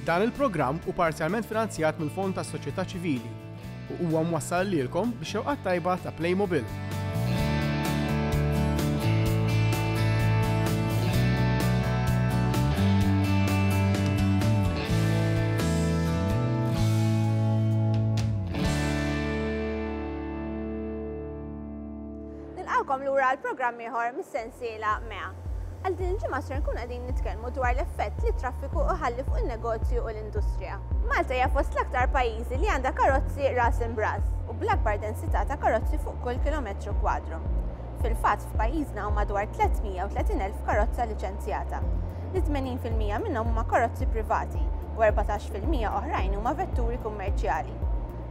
Dan il-programm hu parzjalment finanzjat mill-Fond tas-Soċjetà Ċivili u huwa mwassal lilkom bix-xewqat tajba ta' Playmobil. Nilqgħukom lura għal programm ieħor mis-sensiela MEA. Għal din il-ġimgħa ser nkunu qegħdin nitkellmu dwar l-effett li t-traffiku iħalli fuq in-negozju u l-industrija. Malta hija fost l-aktar pajjiżi li għandha karozzi ras imbras u bl-akbar densità ta' karozzi fuq kull kilometru kwadru. Fil-fatt f'pajjiżna hawn madwar 330,000 karozza liċenzjata, li 80% minnhom huma karozzi privati u 14% oħrajn huma vetturi kummerċjali.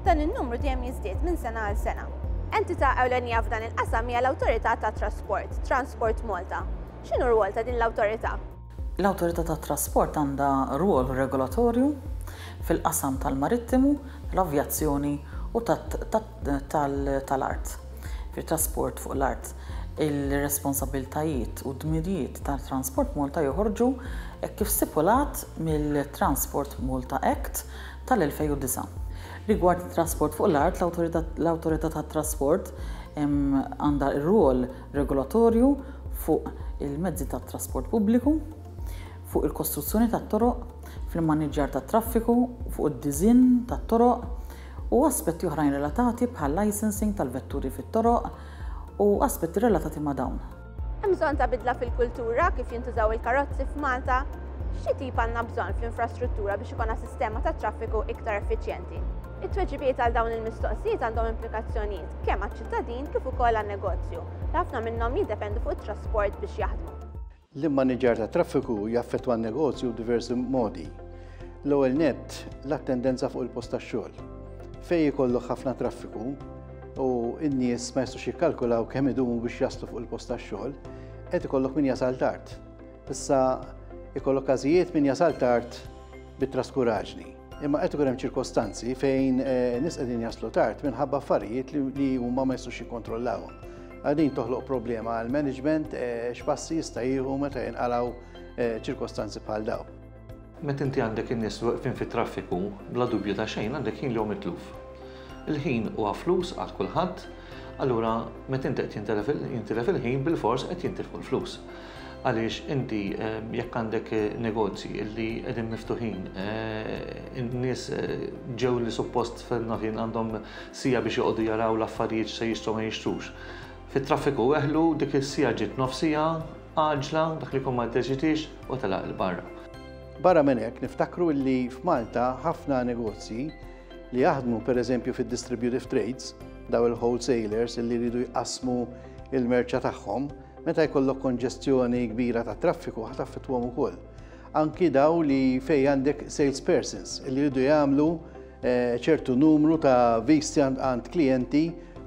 Dan in-numru dejjem jiżdied minn sena għal sena. Entità ewlenija f'dan il-qasam hija l-Awtorità tat-Trasport, Transport Malta. X'inhu r-rwol ta' din l-awtorità? L-Awtorità tat-Trasport għandha rwol regolatorju fil-qasam tal-marittimu, tal-avjazzjoni u tal-art, fit-trasport fuq l-art. Il-responsabbiltajiet u d-dmirijiet ta' Transport Malta joħorġu hekk kif stipulat mill-Transport Malta Act tal-2009. Rigward it-trasport fuq l-art, l-Awtorità tat-Trasport għandha r-rwol regolatorju fuq il-mezzi tat-trasport pubbliku, fuq il-kostruzzjoni tat-toroq, fl-immaniġġjar tat-traffiku, fuq id-diżinn tat-toroq u aspetti oħrajn relatati bħal-licensing tal-vetturi fit-toroq u aspetti relatati ma' dawn. Hemm bżonn ta' bidla fil-kultura kif jintużaw il-karozzi f'Malta? Xi tip għandna bżonn fl-infrastruttura biex ikollna sistema ta' traffiku iktar effiċjenti? It-tweġibiet għal dawn il-mistoqsijiet għandhom implikazzjonijiet kemm għaċ-ċittadin kif ukoll għan-negozju, li ħafna minnhom jiddependu fuq it-trasport biex jaħdmu. L-immaniġġjar tat-traffiku jaffettwa n-negozju b'diversi modi. L-ewwel nett, l-attendenza fuq il-post tax-xogħol. Fejn ikollok ħafna traffiku u n-nies ma jistgħux jikkalkulaw kemm idumu biex jaslu fuq il-post tax-xogħol, qed ikollok min jasal tard. Issa ikollok każijiet min jasal tard bit-traskuraġni. Imma qed ikun hemm ċirkostanzi fejn eh, nies qegħdin jaslu tard minħabba affarijiet li huma ma jistgħux jikkontrollawhom. Din toħloq problema għal management eh, x'passi jista' jieħu meta jinqalgħu eh, ċirkostanzi bħal dawn. Meta inti għandek in-nies weqfin fit-traffiku, bla dubju ta' xejn għandek ħin li hu mitluf. Il-ħin huwa flus għal kulħadd, allura meta inti qed jintilef il-ħin bilfors qed jintilfu l-flus. Għaliex inti jekk għandek negozji li qegħdin miftuħin, in-nies ġew li suppost fil-nofin għandhom siegħa biex joqogħdu jaraw l-affarijiet x'se jixtru ma jixtrux. Fit-traffiku weħlu, dik is-siegħa ġiet nofs siegħa, għaġla, dak li jkun ma ddeċidiex u telaq 'il barra. Barra minn hekk niftakru li f'Malta ħafna negozji li jaħdmu pereżempju fid-distributive trades, daw il-wholesalers li jridu jqassmu il-merċa tagħhom, meta jkollok konġestjoni kbira ta' traffiku ħa taffettwahom ukoll. Anki daw li fejn għandek salespersons li jridu jagħmlu ċertu numru ta' visti għand klijenti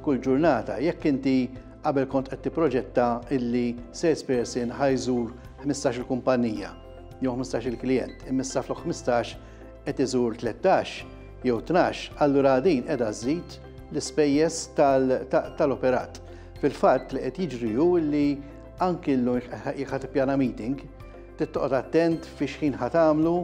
kull ġurnata. Jekk inti qabel kont qed tipproġetta illi salesperson ħa jżur 15-il kumpanija jew 15-il klijent, imma issa flok 15 qed iżur 13 jew 12, allura din qiegħda żżid l-ispejjeż tal-operat. Fil-fatt li qed jiġri hu li anki llum jekk ħa tippjana meeting, trid toqgħod attent fi x'ħin ħa tagħmlu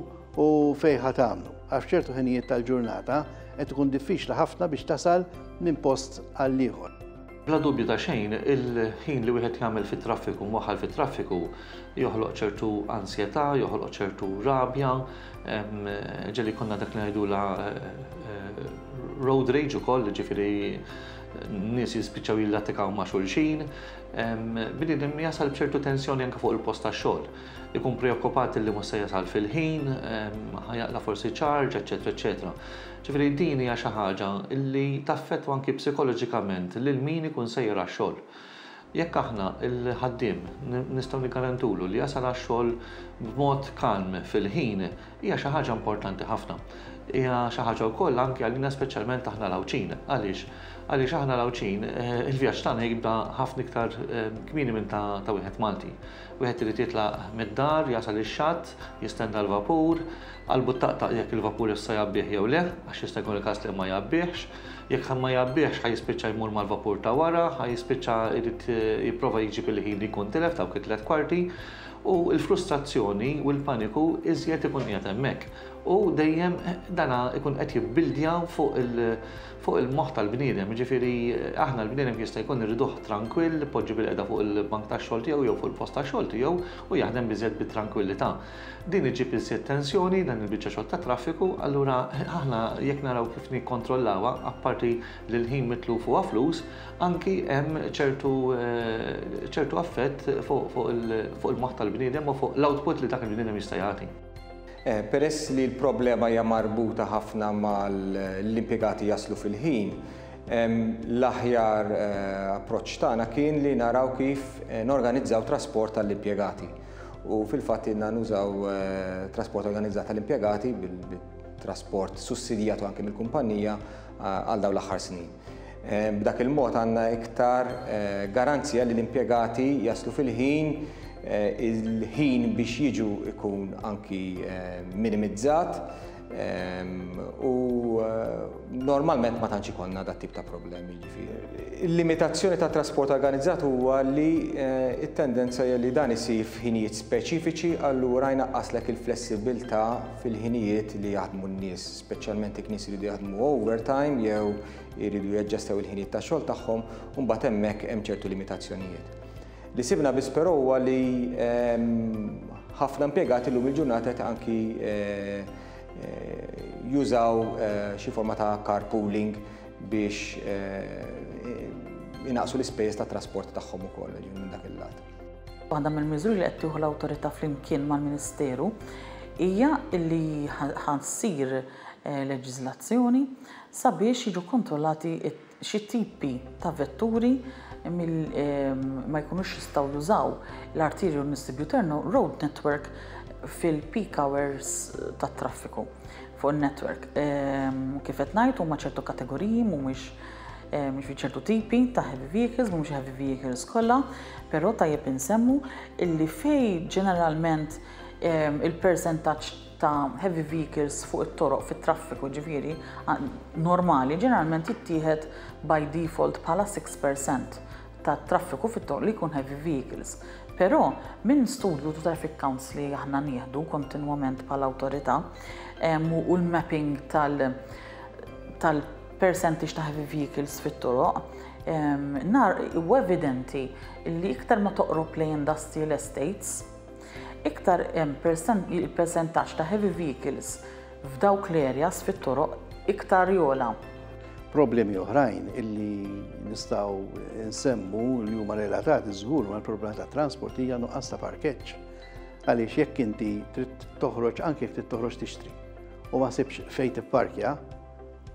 u fejn ħa tagħmlu, għax f'ċertu ħinijiet tal-ġurnata qed ikun diffiċli ħafna biex tasal minn post għal ieħor. Bla dubju ta' xejn, il-ħin li wieħed jagħmel fit-traffiku, mwaħħal fit-traffiku, joħloq ċertu ansjetà, joħloq ċertu rabja, ġieli jkollna dak li ngħidulha road rage ukoll, jiġifieri nies jispiċċaw jillatikaw ma' xulxin. Bniedem jasal b'ċertu tensjoni anke fuq il-post tax-xogħol. Ikun preokkupat li mhux se jasal fil-ħin, ħa jaqla' forsi charge, eċċetera eċċetera. Ġifieri din hija xi ħaġa li taffettwa anki psikoloġikament lil min ikun sejjer għax-xogħol. Jekk aħna l-ħaddiem nistgħu niggarantulu li jasal għax-xogħol b'mod kalm fil-ħin, hija xi ħaġa importanti ħafna. Hija xi ħaġa wkoll anki għalina speċjalment aħna l-Għawdxin. Għaliex? Għaliex aħna l-Għawdxin il-vjaġġ tagħna jibda ħafna iktar kmieni minn ta' wieħed Malti. Wieħed irid jitlaq mid-dar, jasal ix-xatt, jistenna l-vapur, qalbu ttaqtaq jekk il-vapur issa jgħabbih jew le, għax jista' jkun il-każ li ma jgħabbihx. Jekk ma jgħabbihx ħa jispiċċa jmur mal-vapur ta' wara, ħa jispiċċa jrid jipprova jġib il-ħin li jkun tilef dawk it-tliet kwarti, u l-frustrazzjoni u l-paniku iżjed ikun qiegħed hemmhekk. U dejjem dana ikun qed jibbildja fuq il-moħħ tal-bniedem, jiġifieri aħna l-bniedem jista' jkun irriduh trankwill, ipoġġi bilqiegħda fuq il-bank tax-xogħol tiegħu jew fuq il-post tax-xogħol tiegħu u jaħdem biżżejjed bit-trankwillità. Din iġġib iżjed tensjoni dan il-biċċa xogħol tat-traffiku, allura aħna jekk naraw kif nikkontrollawha, apparti li l-ħin mitluf huwa flus, anki hemm ċertu ċertu affett fuq il-moħħ tal-bniedem u fuq l-output li dak il-bniedem jista' jagħti. Peress li l-problema hija marbuta ħafna mal-impjegati jaslu fil-ħin, l-aħjar approċċ tagħna kien li naraw kif norganizzaw trasport għall-impjegati. U fil-fatt ilna nużaw trasport organizzat għall-impjegati bil-trasport sussidjatu anke mill-kumpanija għal dawn l-aħħar snin. B'dak il-mod għandna iktar garanzija li l-impjegati jaslu fil-ħin, il-ħin biex jiġu ikun anki minimizzat u normalment ma tantx ikollna dat tip ta' problemi. Jiġifieri. Il-limitazzjoni ta' trasport organizzat huwa li t-tendenza hija li dan isir f'ħinijiet speċifiċi, allura jnaqqaslek il-flessibilità fil-ħinijiet li jaħdmu n-nies, speċjalment jekk nies iridu jaħdmu overtime jew iridu jaġġastew il-ħinijiet tax-xogħol tagħhom, u mbagħad hemmhekk hemm ċertu limitazzjonijiet. Li sibna biss però huwa li ħafna impjegati llum il-ġurnata qed anki jużaw xi forma ta' carpooling biex inaqsu l-ispejjeż tat trasport tagħhom ukoll minn dak il-lat. Waħda mill-miżuri li qed tieħu l-awtorità flimkien mal-Ministeru hija li ħa ssir leġiżlazzjoni sabiex jiġu kontrollati xi tipi ta' vetturi ma jkunux jistgħu jużaw l-Arterial Distributor Road Network fil-peak hours tat-traffiku fuq in-network. Kif qed ngħid, huma ċertu kategoriji, mhumiex jiġifieri ċertu tipi ta' heavy vehicles, mhumiex heavy vehicles kollha, però tajjeb insemmu illi fejn ġeneralment il-persentaġġ ta' heavy vehicles fuq it-toroq fit-traffiku, ġifieri normali, ġeneralment jittieħed by default bħala 6% ta' traffiku fit-toroq li jkun heavy vehicles. Però minn studju ta' traffic counts li aħna nieħdu kontinwament bħala awtorità u l-mapping tal percentage ta' heavy vehicles fit-toroq, nar u evidenti li iktar ma toqrob lejn industrial estates, iktar hemm il-persentaġġ ta' heavy vehicles f'dawk l-areas fit-toroq iktar jogħla. Problemi oħrajn illi nistgħu nsemmu li huma relatati żgur mal-problema ta' trasport hija nuqqas ta' parkeġġ. Għaliex jekk inti trid toħroġ, anke jekk trid toħroġ tixtri u ma sibx fejn tipparkja,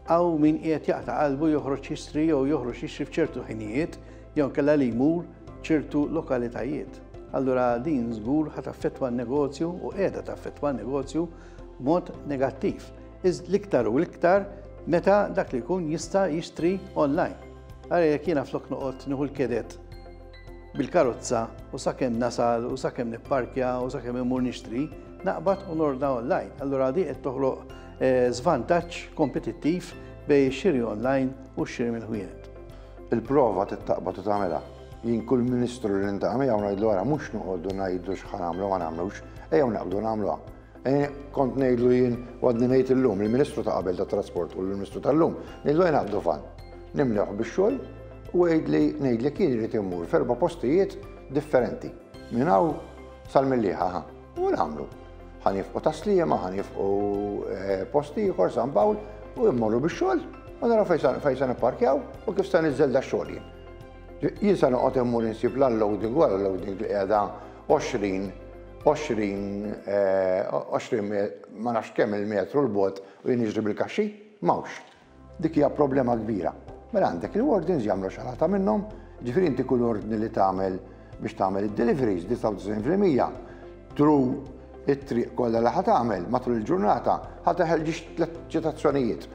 hawn min qiegħed jaqta' qalbu joħroġ jixtri jew joħroġ jixtri f'ċertu ħinijiet jew inkella li jmur ċertu lokalitajiet. Allura din żgur ħa taffettwa n-negozju u qiegħda taffettwa n-negozju b'mod negattiv. L-iktar u l-iktar meta dak li jkun jista' jixtri online. Ara jekk jiena flok noqgħod nieħu l-kedet bil-karozza u sakemm nasal u sakemm nipparkja u sakemm immur nixtri, naqbad u nordna online. Allura di qed toħloq żvantaġġ kompetittiv bejn ix-xiri online u x-xiri mill-ħwienet. Il-prova tittaqbad u tagħmilha. Jien kull ministru li niltaqa' miegħu ngħidlu, ara, mhux noqogħdu ngħidu x'ħa nagħmlu ma nagħmlux, ejjew naqbdu nagħmluha. Kont ngħidlu jien u għadni ngħid illum, il-Ministru ta' qabel tat-Trasport u l-Ministru tal-lum, ngħidlu ejja naqbdu van. Nimlewh bix-xogħol u għidli ngħidlek jien irid immur f'erba' postijiet differenti. Minn hawn sal-Mellieħa, ħa. U nagħmlu. Ħa nifqu Tas-Sliema, ħa nifqu post ieħor, San Pawl, u mmorru bix-xogħol u naraw fejn se nipparkjaw u kif se niżżel dax-xogħol jien. Jien se noqgħod immur insib l-unloading wara l-loading li qiegħda 20, 20, 20 ma nafx kemm il-metru 'l bogħod u jien niġri bil-kaxxi? M'hawnx. Dik hija problema kbira. Mela għandek il-wardens jagħmlu xalata minnhom, ġifieri inti kull ordni li tagħmel biex tagħmel id-deliveries 99% through it-triq kollha li ħa tagħmel matul il-ġurnata ħa teħel ġiex tliet ċitazzjonijiet.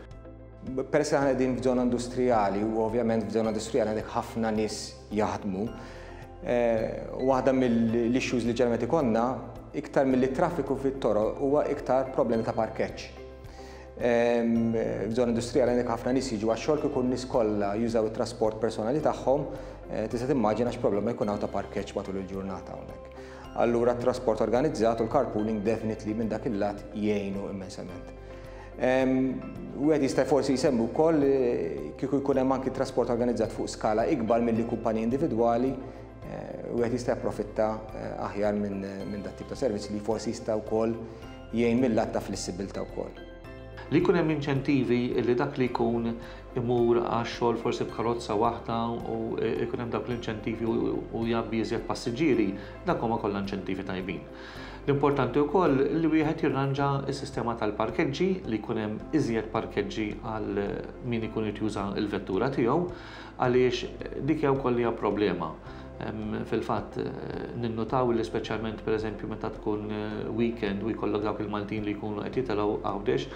Peress li aħna qegħdin f'żona industrijali u ovvjament f'żona industrijali għandek ħafna nies jaħdmu, waħda mill-issues li ġeneralment ikollna iktar milli traffiku fit-toroq huwa iktar problemi ta' parkeġġ. F'żona industrijali għandek ħafna nies jiġu għax-xogħol, kieku n-nies kollha jużaw it-trasport personali tagħhom, tista' timmaġina x'problema jkun hawn ta' parkeġġ matul il-ġurnata hawnhekk. Allura t-trasport organizzat u l-carpooling definitely minn dak il-lat jgħinu immensament. Wieħed jista' forsi jsemmi wkoll kieku jkun hemm anki trasport organizzat fuq skala ikbar milli kumpaniji individwali, wieħed jista' japprofitta aħjar minn dat tip ta' servizz li forsi jista' wkoll jgħin mill-lat ta' flessibilità wkoll. Li jkun hemm inċentivi li dak li jkun imur għax-xogħol forsi b'karozza waħda u jkun hemm dawk l-inċentivi u jgħabbi iżjed passiġġieri, dak huma kollha inċentivi tajbin. L-importanti wkoll li wieħed jirranġa s-sistema tal-parkeġġi, li jkun hemm iżjed parkeġġi għal min ikun irid juża l-vettura tiegħu, għaliex dik hija wkoll hija problema. Fil-fatt ninnutaw li speċjalment pereżempju meta tkun weekend u jkollok dawk il-Maltin li jkunu qed jitilgħu Għawdex,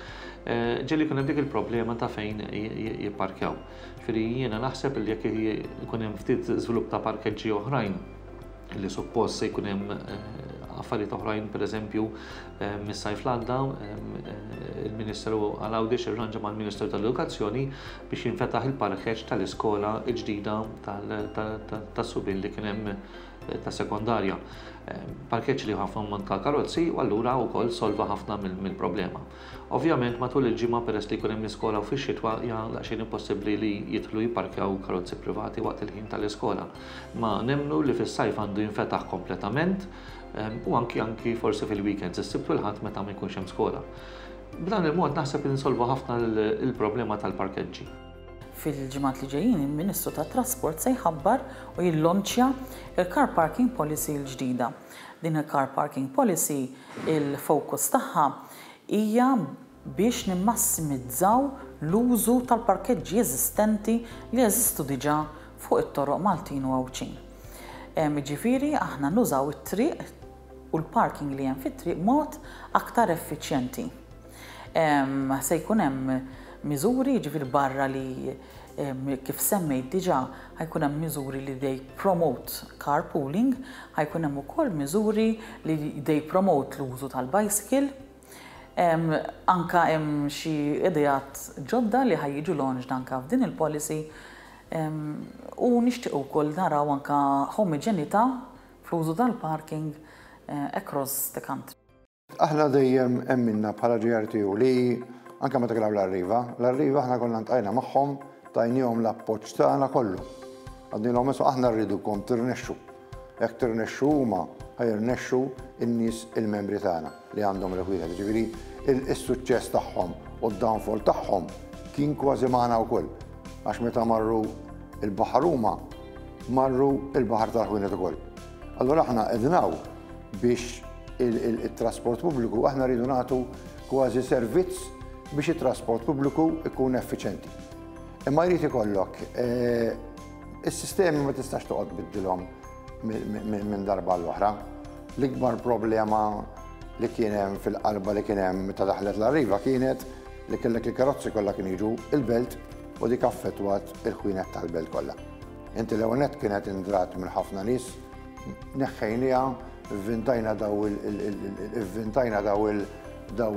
ġieli jkun hemm dik il-problema ta' fejn jipparkjaw. Ġifieri jiena naħseb li jekk ikun hemm ftit żvilupp ta' parkeġġi oħrajn, li suppost se jkun hemm affarijiet oħrajn, pereżempju mis-sajf l-għadda il-Ministeru għal Għawdex irranġa mal-Ministeru tal-Edukazzjoni biex jinfetaħ il-parkeġġ tal-iskola l-ġdida tas-subien li kien hemm ta' sekondarja. Parkeġġ li ħafna ammont ta' karozzi u allura wkoll solva ħafna mill-problema. Ovvjament matul il-ġimgħa peress li jkun hemm l-iskola u fix-xitwa hija daqsxejn impossibbli li jidħlu jipparkjaw karozzi privati waqt il-ħin tal-iskola. Ma nemmnu li fis-sajf għandu jinfetaħ kompletament u anki anki forsi fil-weekends, is-Sibt u l-Ħadd meta ma jkunx hemm skola. B'dan il-mod naħseb li nsolvu ħafna l-problema tal-parkeġġi. Fil-ġimgħat li ġejjin il-Ministru tat-Trasport se jħabbar u jillonċja l-Car Parking Policy l-ġdida. Din il-Car Parking Policy il-focus tagħha hija biex nimmassimizzaw l-użu tal-parkeġġi eżistenti li jeżistu diġà fuq it-toroq Maltin u Għawdxin. Jiġifieri aħna nużaw it-triq u l-parking li hemm fit-triq b'mod aktar effiċjenti. Se jkun hemm miżuri, jiġifieri barra li kif semmejt diġà ħa jkun hemm miżuri li they promote carpooling, ħa jkun hemm ukoll miżuri li they promote l-użu tal-bicycle. Anka hemm xi ideat ġodda li ħa jiġu launched anka f'din il-policy u nixtiequ wkoll naraw anka homogenità fl-użu tal-parking across the country. Aħna dejjem emminna bħala GRTU li anke meta kien hawn l-Arriva, l-Arriva aħna konna ltqajna magħhom, tajniehom l-appoġġ tagħna kollu. Għadnilhom isma' aħna rridukom tirnexxu. Jekk tirnexxu huma, ħa jirnexxu n-nies il-membri tagħna li għandhom il-ħwienet. Jiġifieri is-suċċess tagħhom u d-downfall tagħhom kien kważi magħna wkoll. Għax meta marru il-baħar huma, marru il-baħar tal-ħwienet ukoll. Allura aħna qegħdin hawn biex il-trasport pubbliku aħna rridu nagħtu kważi servizz biex it-trasport pubbliku ikun effiċenti. Imma jrid ikollok eh, Is-sistemi ma tistax toqgħod tbiddilhom minn darba għall-oħra. L-ikbar problema li kien hemm fil-qalba li kien hemm meta daħlet l-Arriva kienet li kellek il-karozzi kollha kienu jiġu il-belt u dik affettwat il-ħwienet tal-belt kollha. Inti l-ewwel nett kienet indrat minn ħafna nies, neħħejniha, ivvintajna daw il-ivvintajna daw il daw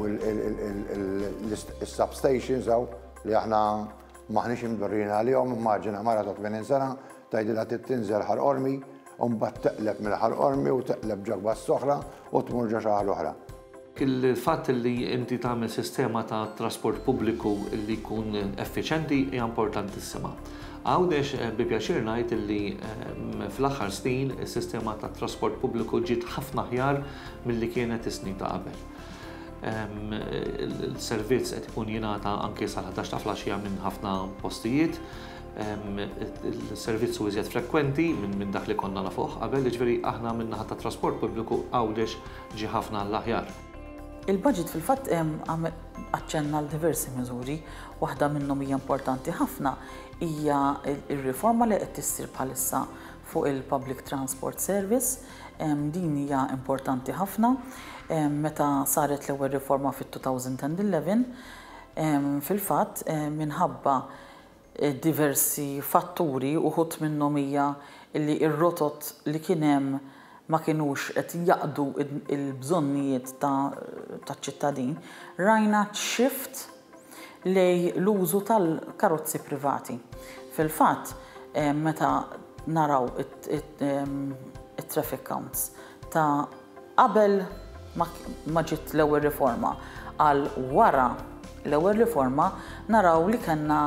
il-substations hawn li aħna M'aħniex imdorrijin għalihom, immaġina mara ta' 80 sena tgħidilha trid tinżel Ħal Qormi u mbagħad teqleb minn Ħal Qormi u teqleb ġo bus oħra u tmur ġo xi ħaġa oħra. Il-fatt li inti tagħmel sistema ta' trasport pubbliku li jkun effiċenti hija importantissima. Għawdex bi pjaċir ngħid li fl-aħħar snin is-sistema tat-trasport pubbliku ġiet ħafna aħjar milli kienet is-snin ta' qabel. Il-servizz qed ikun jingħata anke sal-11 ta' flaxija minn ħafna postijiet. Il-servizz hu iżjed frekwenti minn dak li konna nafuh qabel, jiġifieri aħna min-naħa tat-trasport pubbliku Għawdex ġie ħafna għall-aħjar. Il-budget fil-fatt aċċenna għal diversi miżuri, waħda minnhom hija importanti ħafna hija r-riforma li qed issir bħalissa fuq il-Public Transport Service. Din hija importanti ħafna. Meta saret l-ewwel riforma fit-2011, fil-fatt minħabba diversi fatturi, uħud minnhom hija li r-rotot li kien hemm ma kinux qed jaqdu l-bżonnijiet taċ-ċittadin, rajna shift lejn l-użu tal-karozzi privati. Fil-fatt, meta naraw it-traffic counts ta' qabel ma ġiet l-ewwel riforma għal wara l-ewwel riforma naraw li kellna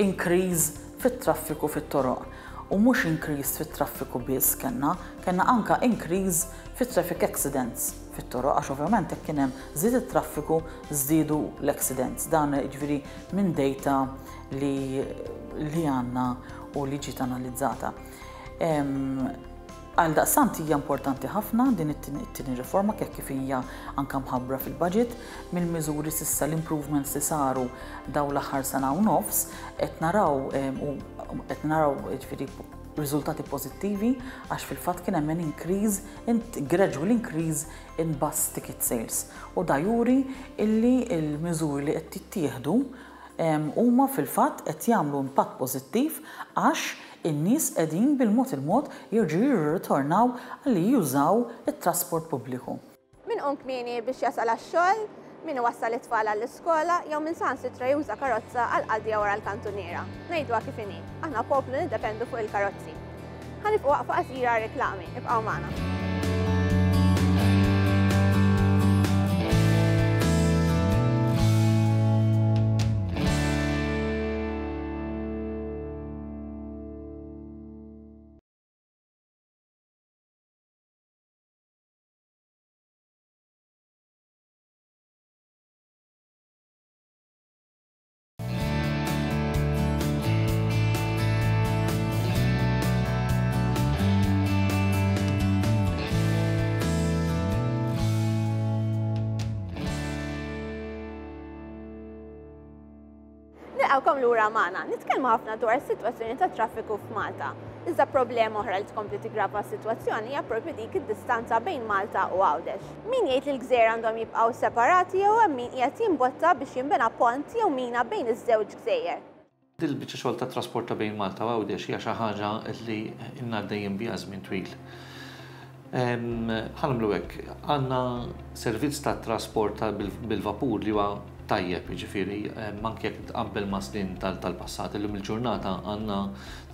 increase fit-traffiku fit-toroq. U mhux increase fit-traffiku biss kellna, kellna anke increase fit-traffic accidents fit-toroq għax ovvjament jekk kien hemm żied it-traffiku żdiedu l-accidents. Dan jiġifieri minn data li li għandna u li ġiet analizzata. Għaldaqstant hija importanti ħafna din it-tieni riforma kif kif hija anke mħabbra fil-budget. Mill-miżuri s'issa l-improvements li saru dawn l-aħħar sena u nofs qed naraw u qed naraw jiġifieri riżultati pożittivi għax fil-fatt kien hemm an increase in gradual increase in bus ticket sales u da juri illi l-miżuri li qed jittieħdu huma fil-fatt qed jagħmlu impatt pożittiv għax in-nies qegħdin bil-mod il-mod jerġgħu jirritornaw li jużaw it-trasport pubbliku. Min iqum kmieni biex jasal għax-xogħol, min iwassal it-tfal għall-iskola jew min saħansitra juża karozza għall-qadja wara l-kantuniera. Ngħiduha kif inhi, aħna poplu niddependu fuq il-karozzi. Ħa nifqu waqfa qasira għar-reklami, ibqgħu magħna. Nilqgħukom lura magħna. Nitkellmu ħafna dwar is-sitwazzjoni tat-traffiku f'Malta. Iżda problema oħra li tkompli tiggrava s-sitwazzjoni hija proprju dik id-distanza bejn Malta u Għawdex. Min jgħid li l-gżejjer għandhom jibqgħu separati jew hemm min qiegħed jimbotta biex jinbena pont jew mina bejn iż-żewġ gżejjer. Dil-biċċa xogħol tat-trasport ta' bejn Malta u Għawdex hija xi ħaġa li ilna għaddejjin biha żmien twil. Ħa nagħmlu hekk, għandna servizz ta' trasport bil-vapur li huwa tajjeb, jiġifieri anke jekk tqabbel ma' snin tal-passat. Illum il-ġurnata għandna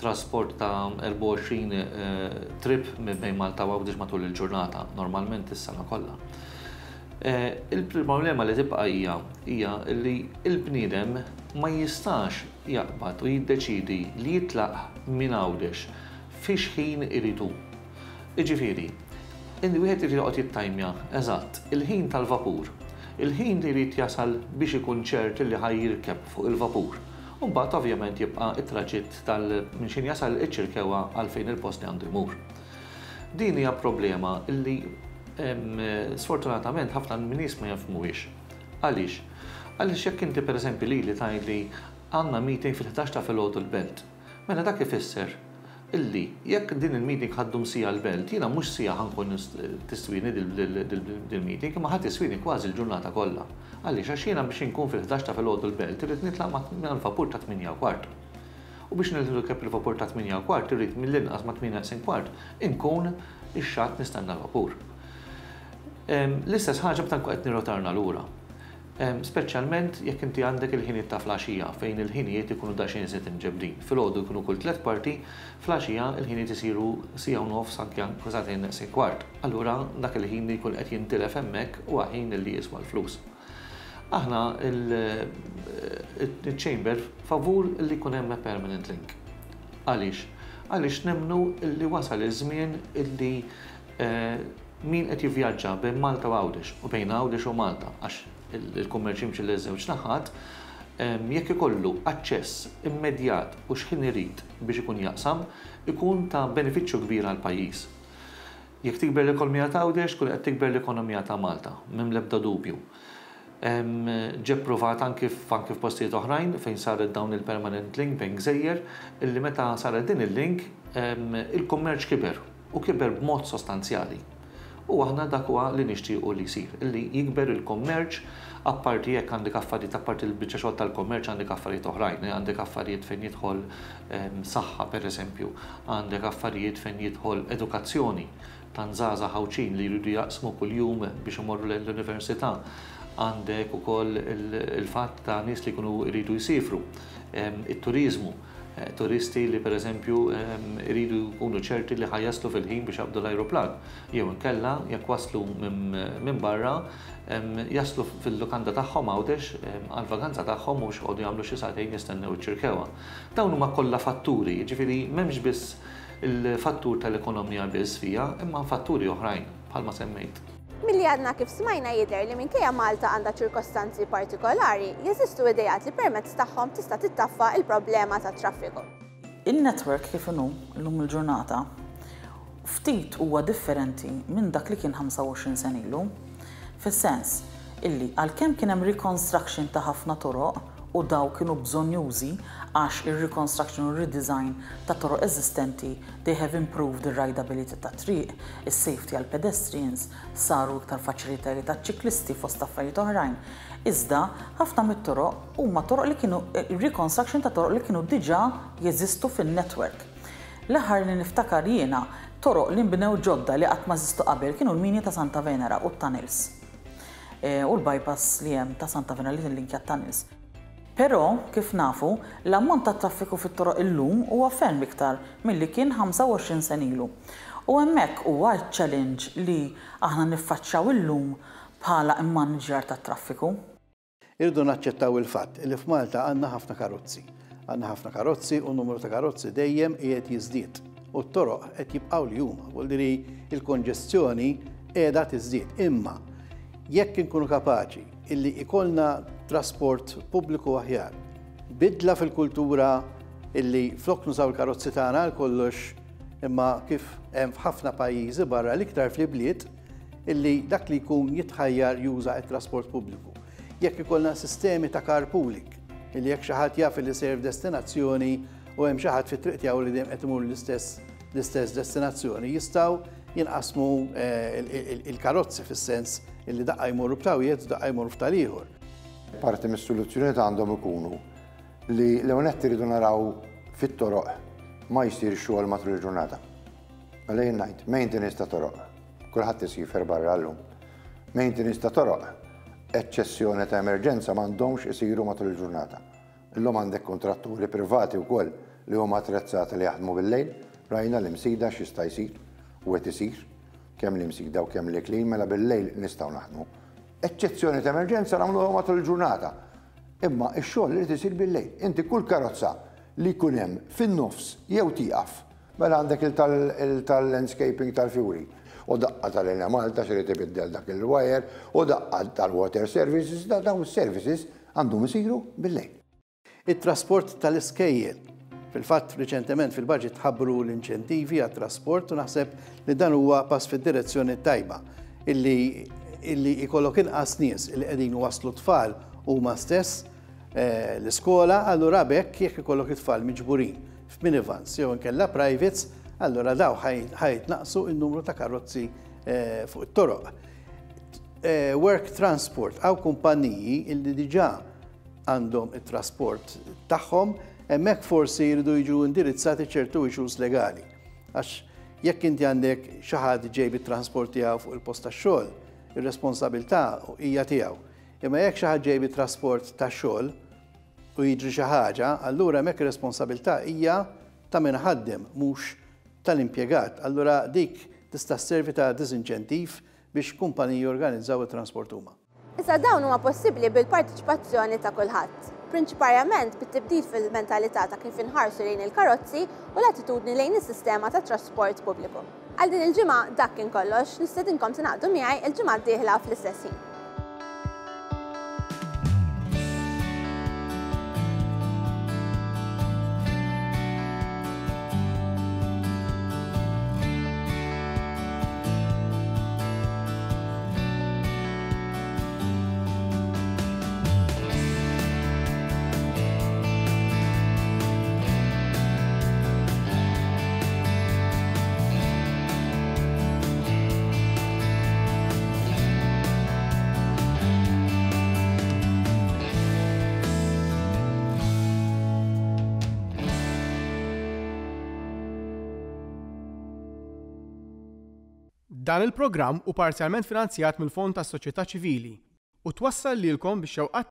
trasport ta' 24 trip bejn Malta u Għawdex matul il-ġurnata, normalment is-sena kollha. Il-problema li tibqa' hija hija li l-bniedem ma jistax jaqbad u jiddeċiedi li jitlaq minn Għawdex fi x'ħin irid hu. Jiġifieri, wieħed irid joqgħod jittajmja eżatt il-ħin tal-vapur, il-ħin li jrid jasal biex ikun ċert li ħa jirkeb fuq il-vapur, u mbagħad ovvjament jibqa' t-traġitt tal minn x'ħin jasal iċ-Ċirkewwa għal fejn il-post li għandu jmur. Din hija problema li sfortunatament ħafna min-nies ma jifhmuhiex. Għaliex? Għaliex jekk inti pereżempju lili tgħidli għandna meeting fil-ħdax ta' filgħodu l-Belt, Mela dak ifisser illi jekk din il-meeting ħa ddum siegħa l-Belt, jiena mhux siegħa ħa nkun tiswini dil-meeting, imma ħa tiswini kważi l-ġurnata kollha. Għaliex? Għax jiena biex inkun fil-ħdax ta' filgħodu l-Belt irrid nitlaq mal-vapur ta' tmienja u kwart. U biex nirkeb il-vapur ta' tmienja u kwart irrid mill-inqas ma' tmienja neqsin kwart inkun ix-xatt nistenna l-vapur. L-istess ħaġa meta nkun qed nirrotarna lura. Speċjalment jekk inti għandek il-ħinijiet ta' flaxija fejn il-ħinijiet ikunu daqsxejn iżjed imġebbdin. Filgħodu jkunu kull tlett kwarti, flaxija il-ħinijiet isiru siegħa u nofs anke sagħtejn neqsin kwart. Allura dak il-ħin li jkun qed jintilef hemmhekk huwa ħin li jiswa l-flus. Aħna il-Chamber favur li jkun hemm a permanent link. Għaliex? Għaliex nemmnu li wasal iż-żmien illi Min qed jivvjaġġa bejn Malta u Għawdex u bejn Għawdex u Malta, għax il-kummerċ jimxi liż-żewġ naħat, jekk ikollu aċċess immedjat u x'ħin irid biex ikun jaqsam, ikun ta' benefiċċju kbir għall-pajjiż. Jekk tikber l-ekonomija ta' Għawdex, tkun qed tikber l-ekonomija ta' Malta, m'hemm l-ebda dubju. Ġie ppruvat anki f'postijiet oħrajn fejn saret dawn il-permanent link bejn gżejjer, illi meta saret din il-link, il-kummerċ kiber. U kiber b'mod sostanzjali. U aħna dak huwa li nixtiequ li jsir, li jikber il-kummerċ, apparti hekk għandek affarijiet, apparti l-biċċa xogħol tal-kummerċ għandek affarijiet oħrajn, għandek affarijiet fejn jidħol saħħa pereżempju, għandek affarijiet fejn jidħol edukazzjoni, tant żgħażagħ Għawdxin li jridu jaqsmu kuljum biex imorru lejn l-università, għandek ukoll il-fatt ta' nies li jkunu jridu jsiefru, it-turiżmu. Turisti li pereżempju iridu jkunu ċerti li ħa jaslu fil-ħin biex jaqbdu l-ajruplan. Jew inkella jekk waslu minn barra jaslu fil-lukanda tagħhom Għawdex għall-vaganza tagħhom u mhux joqogħdu jagħmlu xi sagħtejn jistennew iċ-Ċirkewwa. Dawn huma kollha fatturi, jiġifieri m'hemmx biss il-fattur tal-ekonomija biss fiha, imma fatturi oħrajn bħalma semmejt. Milli għadna kif smajna jidher li minkejja Malta għandha ċirkostanzi partikolari, jeżistu ideat li permezz tagħhom tista' tittaffa l-problema tat-traffiku. In-network kif inhu llum il-ġurnata ftit huwa differenti minn dak li kien 25 sena ilu. Fis-sens illi għalkemm kien hemm reconstruction ta' ħafna toroq u dawn kienu bżonnjużi għax ir-reconstruction u r-redesign ta' toroq eżistenti they have improved ir-rideability tat-triq, is-safety għall-pedestrians, saru iktar faċilitajiet għaċ-ċiklisti fost affarijiet oħrajn. Iżda, ħafna mit-toroq huma toroq li kienu reconstruction ta' toroq li kienu diġà jeżistu fin-network. L-aħħar li niftakar jiena, toroq li nbnew ġodda li qatt ma eżistu qabel kienu l-mini ta' Santa Venera u t-tunnels. U l-bypass li hemm ta' Santa Venera li tillinkja t-tunnels. Però, kif nafu, l-ammont ta' traffiku fit-toroq illum huwa ferm iktar milli kien 25 sena ilu. U hemmhekk huwa ċ-challenge li aħna niffaċċjaw illum bħala mmaniġjar tat-traffiku. Irridu naċċettaw il-fatt li f'Malta għandna ħafna karozzi. Għandna ħafna karozzi u n-numru ta' karozzi dejjem qiegħed jiżdied. U t-toroq qed jibqgħu li huma, vuol dire il-konġestjoni qiegħda tiżdied. Imma jekk inkunu kapaċi illi ikollna trasport pubbliku aħjar, bidla fil-kultura illi flok nużaw il-karozzi tagħna għal kollox imma kif hemm f'ħafna pajjiżi barra l-iktar fl-ibliet illi dak li jkun jitħajjar juża t-trasport pubbliku. Jekk ikollna sistemi ta' carpooling, illi jekk xi ħadd jaf li sejjer f'destinazzjoni u hemm xi ħadd fit-triq tiegħu li dejjem qed imur l-istess l-istess destinazzjoni, jistgħu jinqasmu eh, il-karozzi fis-sens illi daqqa jmorru b'tawiet u daqqa jmorru f'tal-ieħor. Parti mis-soluzzjonijiet għandhom ikunu li l-ewwel nett iridu naraw fit-toroq ma jsir xogħol matul il-ġurnata. Mela jien ngħid maintenance ta' toroq. Kulħadd isifer barra llum. Maintenance ta' toroq, eċċessjoni ta' emerġenza m'għandhomx isiru matul il-ġurnata. Illum għandek kuntratturi privati wkoll li huma attrezzati li jaħdmu bil-lejl. Rajna l-Imsida x'jista' jsir u qed isir, kemm l-Imsida u kemm l-Iklin, mela bil-lejl nistgħu naħdmu. Eċċezzjoni ta' emerġenza nagħmluha matul il-ġurnata. Imma x-xogħol irid isir bil-lejl. Inti kull karozza li jkun hemm fin-nofs jew tieqaf Mela għandek il tal-landscaping tal-fjuri, u daqqa tal-Enemalta x'irid ibiddel dak il-wire, u daqqa tal-water services, dawn is-services għandhom isiru bil-lejl. It-trasport tal-iskejjel. Fil-fatt, riċentement fil-budget tħabbru l-inċentivi għat-trasport u naħseb li dan huwa pass fid-direzzjoni t-tajba illi illi jkollok inqas nies illi qegħdin iwasslu t-tfal huma stess l-iskola, allura b'hekk jekk ikollok it-tfal miġburin f'minivans jew inkella privates, allura daw ħa jitnaqqsu n-numru ta' karozzi fuq it-toroq. Work transport, hawn kumpanniji illi diġà għandhom it-trasport tagħhom, hemmhekk forsi jridu jiġu indirizzati ċertu issues legali. Għax jekk inti għandek xi ħadd ġej bit-transport tiegħu fuq il-post tax-xogħol, ir-responsabilità hija tiegħu. Imma jekk xi ħadd ġej bit-trasport tax-xogħol u jiġri xi ħaġa, allura hemmhekk ir-responsabilità hija ta' min iħaddem mhux tal-impjegat. Allura dik tista' sservi ta' diżinċentiv biex kumpaniji jorganizzaw it-transport huma. Iżda dawn huma possibbli bil-parteċipazzjoni ta' kulħadd, prinċiparjament bit-tibdil fil-mentalità ta' kif inħarsu lejn il-karozzi u l-attitudni lejn is-sistema tat-trasport pubbliku. Għal din il-ġimgħa dak kien kollox, nistedinkom tingħaqdu miegħi l-ġimgħa d-dieħla fl-istess ħin. Dan il-programm hu parzjalment finanzjat mill-Fond tas-Soċjetà Ċivili u twassal lilkom bix-xewqat.